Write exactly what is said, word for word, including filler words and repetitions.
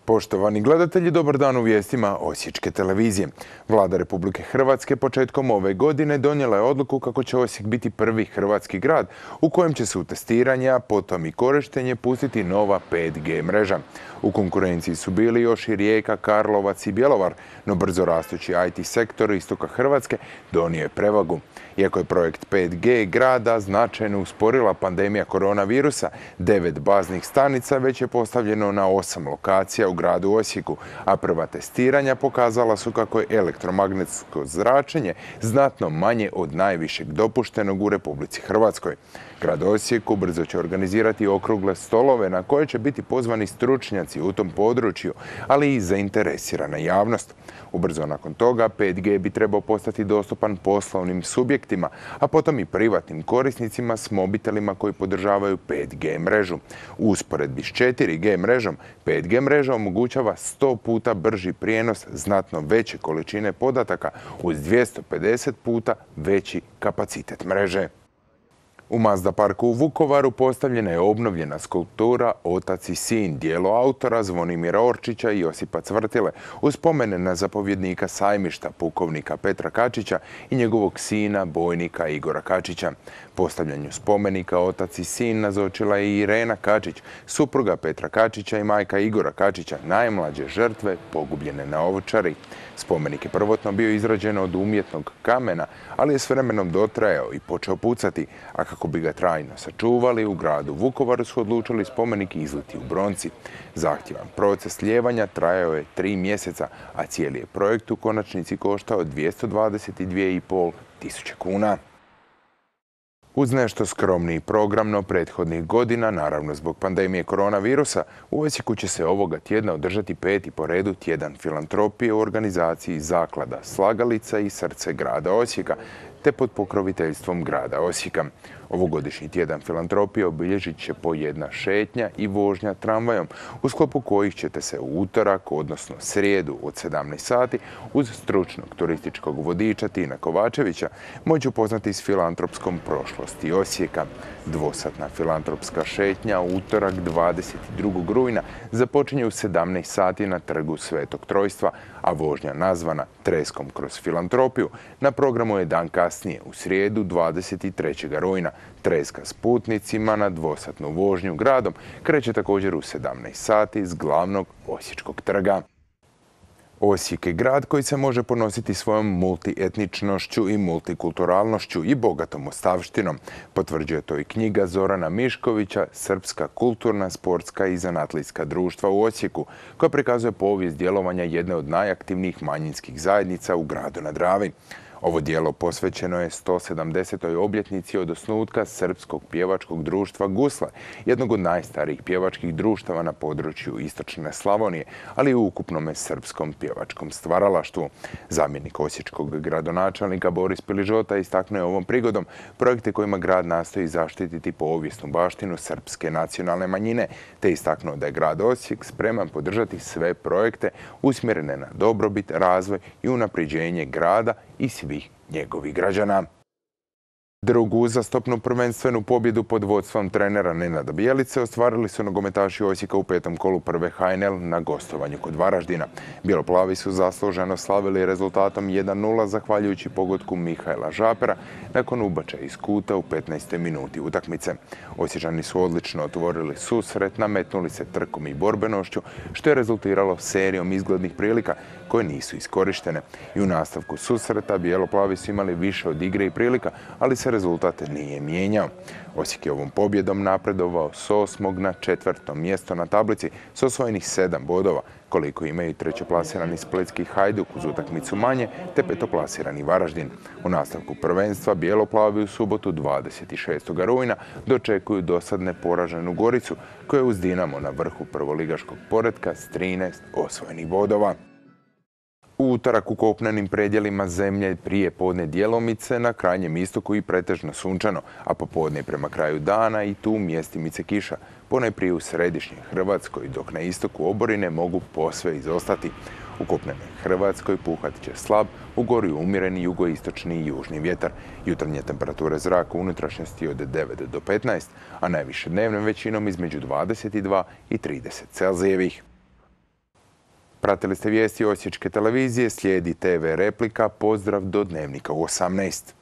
Poštovani gledatelji, dobar dan u vijestima Osječke televizije. Vlada Republike Hrvatske početkom ove godine donijela je odluku kako će Osijek biti prvi hrvatski grad u kojem će se u testiranje, a potom i korištenje pustiti nova pet G mreža. U konkurenciji su bili još i Rijeka, Karlovac i Bjelovar, no brzo rastući I T sektor istoka Hrvatske donio je prevagu. Iako je projekt pet G grada značajno usporila pandemija koronavirusa, devet baznih stanica već je postavljeno na osam lokacija u gradu Osijeku, a prva testiranja pokazala su kako je elektromagnetsko zračenje znatno manje od najvišeg dopuštenog u Republici Hrvatskoj. Grad Osijek ubrzo će organizirati okrugle stolove na koje će biti pozvani stručnjaci u tom području, ali i zainteresirana javnost. Ubrzo nakon toga pet G bi trebao postati dostupan poslovnim subjektima, a potom i privatnim korisnicima s mobitelima koji podržavaju pet G mrežu. U usporedbi s četiri G mrežom, pet G mreža omogućava sto puta brži prijenos znatno veće količine podataka uz dvjesto pedeset puta veći kapacitet mreže. U Mazda parku u Vukovaru postavljena je obnovljena skulptura Otac i sin, djelo autora Zvonimira Orčića i Josipa Cvrtile, uz spomene na zapovjednika sajmišta pukovnika Petra Kačića i njegovog sina bojnika Igora Kačića. Postavljanju spomenika Otac i sin nazočila je i Irena Kačić, supruga Petra Kačića i majka Igora Kačića, najmlađe žrtve pogubljene na Ovčari. Spomenik je prvotno bio izrađen od umjetnog kamena, ali je s vremenom dotrajao i počeo pucati, a kako bi ga trajno sačuvali, u gradu Vukovaru su odlučili spomenik izliti u bronci. Zahtjevan proces lijevanja trajao je tri mjeseca, a cijeli je projekt u konačnici koštao dvjesto dvadeset dvije i pol tisuće kuna. Uz nešto skromniji program, no prethodnih godina, naravno zbog pandemije koronavirusa, u Osijeku će se ovoga tjedna održati peti po redu tjedan filantropije u organizaciji Zaklada Slagalica i Srce grada Osijeka, te pod pokroviteljstvom grada Osijeka. Ovogodišnji tjedan filantropije obilježit će po jedna šetnja i vožnja tramvajom, u sklopu kojih ćete se u utorak, odnosno srijedu od sedamnaest sati, uz stručnog turističkog vodiča Tina Kovačevića, moći upoznati s filantropskom prošlosti Osijeka. Dvosatna filantropska šetnja u utorak dvadeset drugog rujna započinje u sedamnaest sati na trgu Svetog Trojstva, a vožnja nazvana Treskom kroz filantropiju na programu je dan kasnije, u srijedu dvadeset trećeg rujna. Treska s putnicima na dvosatnu vožnju gradom kreće također u sedamnaest sati s glavnog Osječkog trga. Osijek je grad koji se može ponositi svojom multietničnošću i multikulturalnošću i bogatom ostavštinom. Potvrđuje to i knjiga Zorana Miškovića Srpska kulturna, sportska i zanatlijska društva u Osijeku, koja prikazuje povijest djelovanja jedne od najaktivnijih manjinskih zajednica u gradu na Dravi. Ovo djelo posvećeno je sto sedamdesetoj obljetnici od osnutka Srpskog pjevačkog društva Gusle, jednog od najstarijih pjevačkih društava na području istočne Slavonije, ali i u ukupnome srpskom pjevačkom stvaralaštvu. Zamjenik osječkog gradonačelnika Boris Piližota istaknuo je ovom prigodom projekte kojima grad nastoji zaštititi povijesnu baštinu srpske nacionalne manjine, te istaknuo da je grad Osijek spreman podržati sve projekte usmjerene na dobrobit, razvoj i unapređenje grada i svih njegovih građana. Drugu uzastopnu prvenstvenu pobjedu pod vodstvom trenera Nenada Bijelice ostvarili su nogometaši Osijeka u petom kolu prve H N L na gostovanju kod Varaždina. Bjeloplavi su zasluženo slavili rezultatom jedan nula zahvaljujući pogodku Mihajla Žapera nakon ubačaja iz kuta u petnaestoj minuti utakmice. Osječani su odlično otvorili susret, nametnuli se trkom i borbenošću, što je rezultiralo serijom izglednih prilika koje nisu iskorištene. I u nastavku susreta Bjeloplavi su imali više od igre i prilika, ali se rezultat nije mijenjao. Osijek je ovom pobjedom napredovao s osmog na četvrto mjesto na tablici s osvojenih sedam bodova, koliko imaju trećoplasirani splitski Hajduk uz utakmicu manje, te petoplasirani Varaždin. U nastavku prvenstva Bjeloplavi u subotu dvadeset šestog rujna dočekuju dosadne poraženu Goricu, koja je uz Dinamo na vrhu prvoligaškog poretka s trinaest osvojenih bodova. U utorak u kopnenim predjelima zemlje prije podne djelomice, na krajnjem istoku i pretežno sunčano, a popodne prema kraju dana i tu mjestimice kiša, ponajprije u središnjoj Hrvatskoj, dok na istoku oborine mogu posve izostati. U kopnenoj Hrvatskoj puhat će slab, u gori umjereni jugoistočni i južni vjetar. Jutarnje temperature zraka u unutrašnjosti od devet do petnaest, a najviše dnevnom većinom između dvadeset dva i trideset Celzijevih. Pratili ste vijesti Osječke televizije, slijedi te ve Replika, pozdrav do Dnevnika u osamnaest.